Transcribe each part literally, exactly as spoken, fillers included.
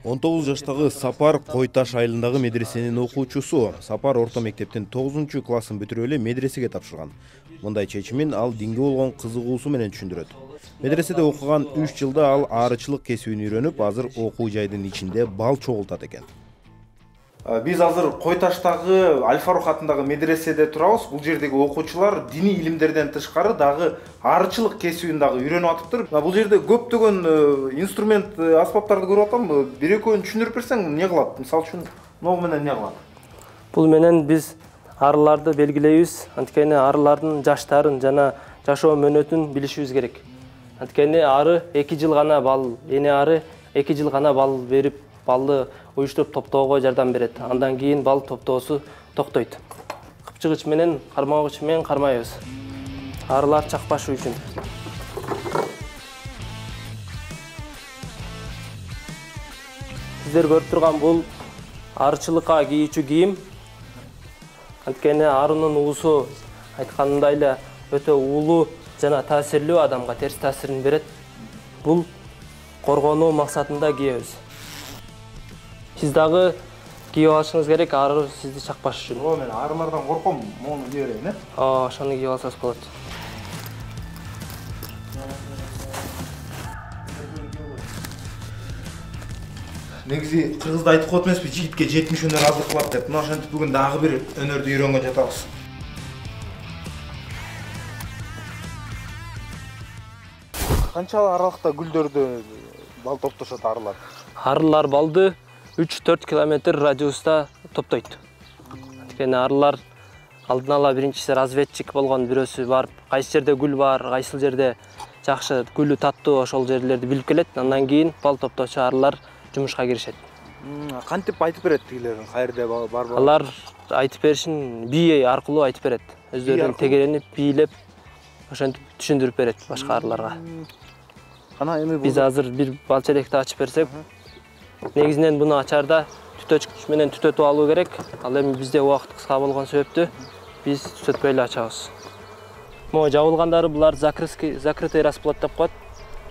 он тогуз жаштагы Сапар Кой Таш айылындагы медресенин окуучусу. Сапар орто мектептин тогузунчу классын бүтүрүп эле медресеге тапшырган. Мындай чечимин ал динге болгон кызыгуусу менен түшүндүрөт. Медреседе окуган үч жылда ал аарычылык кесибин үйрөнүп, азыр окуу жайдын ичинде бал чогултат экен. Биз азыр Кой Таштагы Аль-Фарук атындагы медреседе турабыз. Бул жердеги окуучулар диний илимдерден тышкары дагы аарычылык кесибин дагы үйрөнүп атыптыр. Бул жерде көптөгөн инструмент, аспаптарды көрүп атам. Бир экөөнү түшүндүрүп берсең, эмне кылат? Мисалы үчүн, могу менен эмне кылат? Бул менен биз арыларды белгилейбиз. Анткени арылардын жаштарын жана жашоо мөөнөтүн билишибиз керек. Анткени ары эки жыл гана бал, эне ары эки жыл гана бал берип, балды уюштуруп топтоого жардам берет. Андан кийин бал топтоосу токтойт. Кыпчыгыч менен, кармагыч менен кармайбыз. Арылар чакпашы үчүн. Сиздер көрүп турган бул арычылыкка кийүүчү кийим. Анткени арынын уусу айтканымдай эле өтө уулуу жана таасирлүү, адамга терс таасирин берет. Бул коргонуу максатында кийебиз. Сиз дагы кийип алышыңыз керек, ары сизди чакпаш үчүн. О, мен арылардан корком, мону кие берейин, э? Ооба, ошону кийип алсаңыз болот. Негизи кыргызда айтып коет эмеспи, жигитке жетимиш өнөр аздык кылат деп. Мына ошентип бүгүн дагы бир өнөрдү үйрөнгөн жатабыз. Канча аралыкта гүлдөрдү бал топтошот арылар? Арылар балды үч төрт километр радиуста топтойт. Анткени арылар алдын ала биринчиси разведчик болгон бирөөсү барып, кайсы жерде гүл бар, кайсы жерде жакшы гүлү таттуу, ошол жерлерди билип келет. Андан кийин бал топтоочу арылар жумушка киришет. Кантип айтып берет тигилер, каерде бар бар? Алар айтып беришин бий аркылуу айтып берет. Өздөрүнүн тегеренип, бийлеп, ошентип түшүндүрүп берет башка арыларга. Кана эми биз азыр бир балчеректи ачып берсек, негизинен буну ачарда түтөчкүч менен түтөтүп алуу керек. Ал эми бизде убакыт кыска болгон себептүү биз түтөтпөй эле ачабыз. Могу жабылгандары булар закрытый расплод деп коет.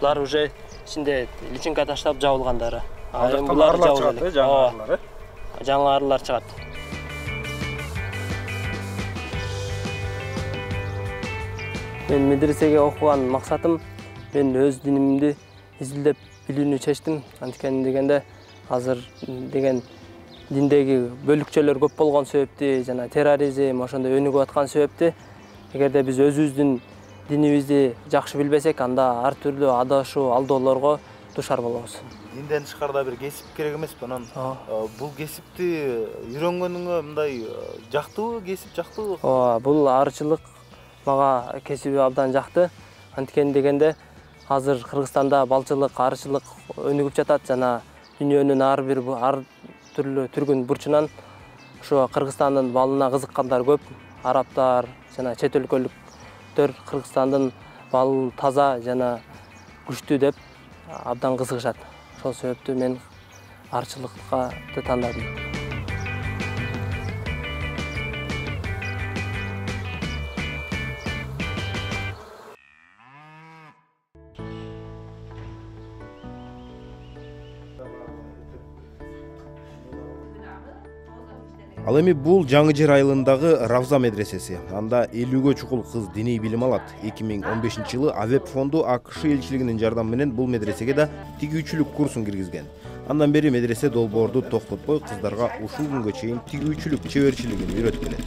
Булар уже ичинде личинка таштап жабылгандары. А эми булар чыгат, э, жаңы арылар, э? Жаңы арылар чыгат. Мен медресеге окуган максатым, мен өз динимди изилдеп билүүнү чечтим. Анткени дегенде азыр деген диндеги бөлүкчөлөр көп болгон себепти жана терроризм ошондой өнүгүп аткан себепти, эгерде биз өзүбүздүн динибизди жакшы билбесек, анда ар түрдүү адашуу, алдоолорго душар болобуз. Динден тышкарыда бир кесип керек эмеспи? Анан бул кесипти үйрөнгөнүңө мындай жактыбы, кесип жактыбы? Ооба, бул арычылык мага кесиби абдан жакты. Анткени дегенде азыр Кыргызстанда балчылык, арычылык өнүгүп жатат жана дүйнөнүн ар бир ар түрлүү түргүн бурчунан ошо Кыргызстандын балына кызыккандар көп. Арабтар жана чет өлкөлүктөр Кыргызстандын балы таза жана күчтүү деп абдан кызыгышат. Ошол себептүү мен арычылыкка тандадым. Ал эми бул Жаңы Жер айылындагы Равза медресеси. Анда элүүгө чукул кыз диний билим алат. эки миң он бешинчи жылы Авеп фонду АКШ элчилигинин жардамы менен бул медресеге да тигүүчүлүк курсун киргизген. Андан бери медресе долбоорду токтотпой, кыздарга ушул күнгө чейин тигүүчүлүк чеберчилигин үйрөтүп келет.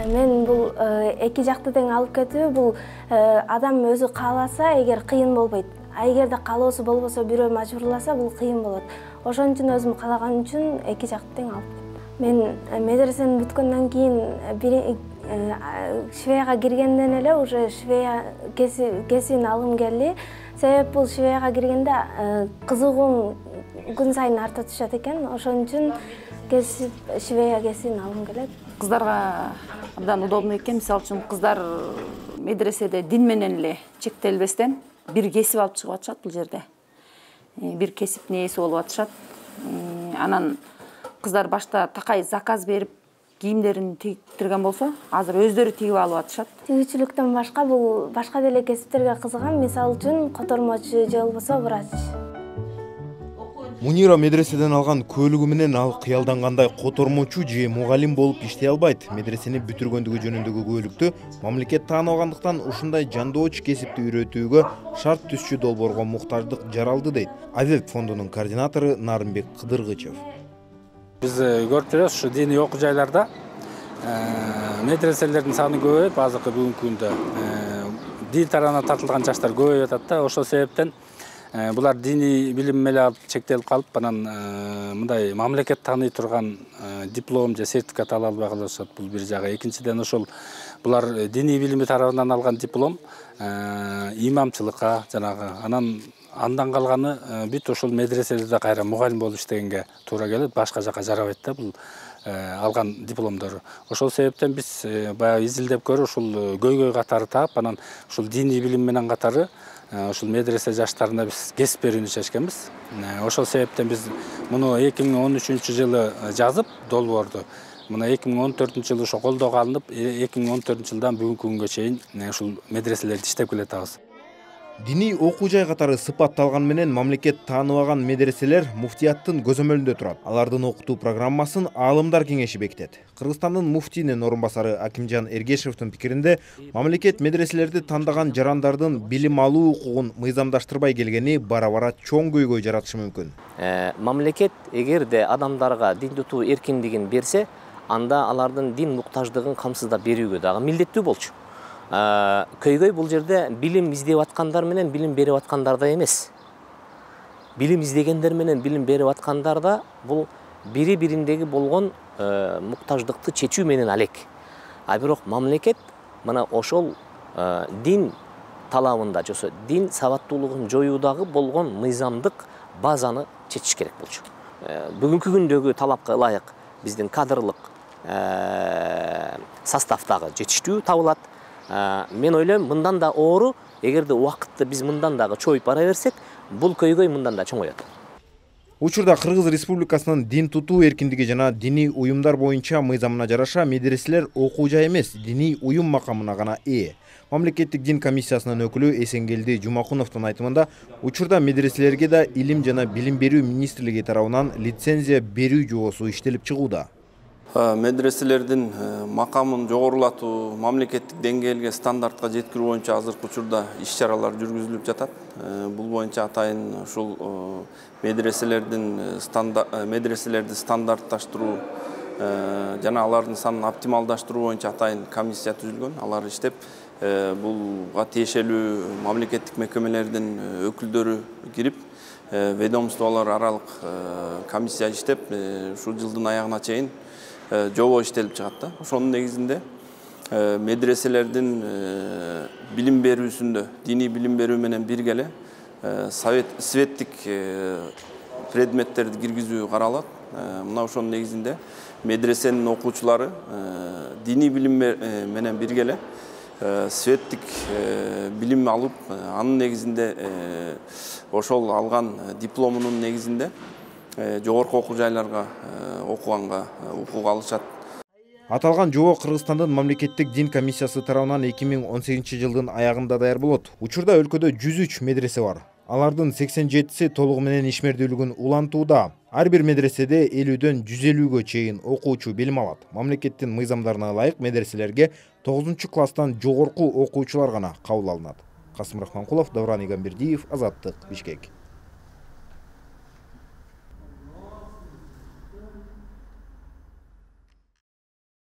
Мен бул эки жакты тең алып кетүү, бул адам өзү кааласа, эгер кыйын болбойт. А эгерде каалоосу болбосо, бирөө мажбурласа, бул кыйын болот. Ошон үчүн өзүм каалаган үчүн эки жакты тең алып кеттим. Мен медресени бүткөндөн кийин швеяга киргенден эле уже швея кесибин алгым келди. Себеп бул швеяга киргенде кызыгуум күн сайын арта түшөт экен. Ошон үчүн кесип швея кесибин алгым келет. Кыздарга абдан удобный экен. Мисалы үчүн кыздар медреседе дин менен эле чектелбестен бир кесип алып чыгып атышат бул жерде. Бир кесиптин ээси болуп атышат. Анан кыздар башта такай заказ берип кийимдерин тигиптирген болсо азыр өздөрү тигип алып атышат. Тигүүчүлүктөн башка бул башка деле кесиптерге кызыгам. Мисалы үчүн котормочу же болбосо врач. Мунира медреседен алган көлүгү менен ал кыялдангандай котормочу же мугалим болуп иштей албайт. Медресени бүтүргөндүгү жөнүндөгү күбөлүктү мамлекет тааныбагандыктан ушундай жандооч кесипти үйрөтүүгө шарт түзчү долбоорго муктаждык жаралды дейт Авеп фондунун координатору Нарымбек Кыдыргычев. Биз көрүп жүрөбүз, ушу диний окуу жайларда медреселердин саны көбөйүп, азыркы бүгүнкү күндө дин тарабына тартылган жаштар көбөйүп атат да. Ошол себептен булар диний билим менен чектелип калып, анан мындай мамлекет тааный турган диплом же сертификат ала албай калышат. Бул бир жагы. Экинчиден ошол булар диний билими тарабынан алган диплом имамчылыкка жанагы анан андан калганы бүт ошол медреселерде кайра мугалим болуп иштегенге туура келет. Башка жака жарабайт да бул алган дипломдору. Ошол себептен биз баягы изилдеп көрүп ушул көйгөй катары таап, анан ушул диний билим менен катары ушул медресе жаштарына биз кесип берүүнү чечкенбиз. Ошол себептен биз муну эки миң он үчүнчү жылы жазып долбоорду. Мына эки миң он төртүнчү жылы ошо колдоого алынып, эки миң он төртүнчү жылдан бүгүнкү күнгө чейин ушул медреселерди иштеп келатабыз. Диний окуу жай катары сыпатталган менен мамлекет тааныбаган медреселер муфтияттын көзөмөлүндө турат. Алардын окутуу программасын аалымдар кеңеши бекитет. Кыргызстандын муфтийинин орун басары Акимжан Эргешевдин пикиринде, мамлекет медреселерди тандаган жарандардын билим алуу укугун мыйзамдаштырбай келгени бара-бара чоң көйгөй жаратышы мүмкүн. Мамлекет эгерде адамдарга дин тутуу эркиндигин берсе, анда алардын дин муктаждыгын камсыздап берүүгө дагы милдеттүү болчу. Көйгөй бул жерде билим издеп аткандар менен билим берип аткандарда эмес. Билим издегендер менен билим берип аткандарда бул бири-бириндеги болгон муктаждыкты чечүү менен алек. А бирок мамлекет мына ошол дин талабында жосо дин сабаттуулугун жоюудагы болгон мыйзамдык базаны чечиш керек болчу. Бүгүнкү күндөгү талапка ылайык биздин кадрлык составдагы жетиштүү табылат. Мен ойлойм, мындан да оору, эгерде убакытты биз мындан дагы чоюп бара берсек, бул көйгөй мындан да чоңоет. Учурда Кыргыз Республикасынын дин тутуу эркиндиги жана диний уюмдар боюнча мыйзамына жараша медреселер окуу жай эмес, диний уюм макамына гана ээ. Мамлекеттик дин комиссиясынын өкүлү Эсенгелди Жумакуновдун айтымында, учурда медреселерге да Илим жана Билим берүү министрлиги тарабынан лицензия берүү жобосу иштелип чыгууда. Медреселердин макамын жогорулатуу, мамлекеттик деңгээлге стандартка жеткирүү боюнча азыркы учурда иш-чаралар жүргүзүлүп жатат. Бул боюнча атайын ушул медреселердин медреселерди стандартташтыруу жана алардын санын оптималдаштыруу боюнча атайын комиссия түзүлгөн. Алар иштеп, булга тиешелүү мамлекеттик мекемелердин өкүлдөрү кирип, ведомстволор аралык комиссия иштеп, ушул жылдын аягына чейин жобо иштелип чыгат да. Ошонун негизинде медреселердин билим берүүсүндө, диний билим берүү менен бирге эле светтик предметтерди киргизүү каралат. Мына ошонун негизинде медресенин окуучулары диний билим менен бирге эле светтик билим алып, анын негизинде ошол алган дипломунун негизинде жогорку окуу жайларга окуганга укук алышат. Аталган жобо Кыргызстандын мамлекеттик дин комиссиясы тарабынан эки миң он сегизинчи жылдын аягында даяр болот. Учурда өлкөдө жүз үч медресе бар. Алардын сексен жетиси толугу менен ишмердүүлүгүн улантууда. Ар бир медреседе элүүдөн жүз элүүгө чейин окуучу билим алат. Мамлекеттин мыйзамдарына ылайык медреселерге тогузунчу класстан жогорку окуучулар гана кабыл алынат. Касым Рахманкулов, Давран Игамбердиев, Азаттык, Бишкек.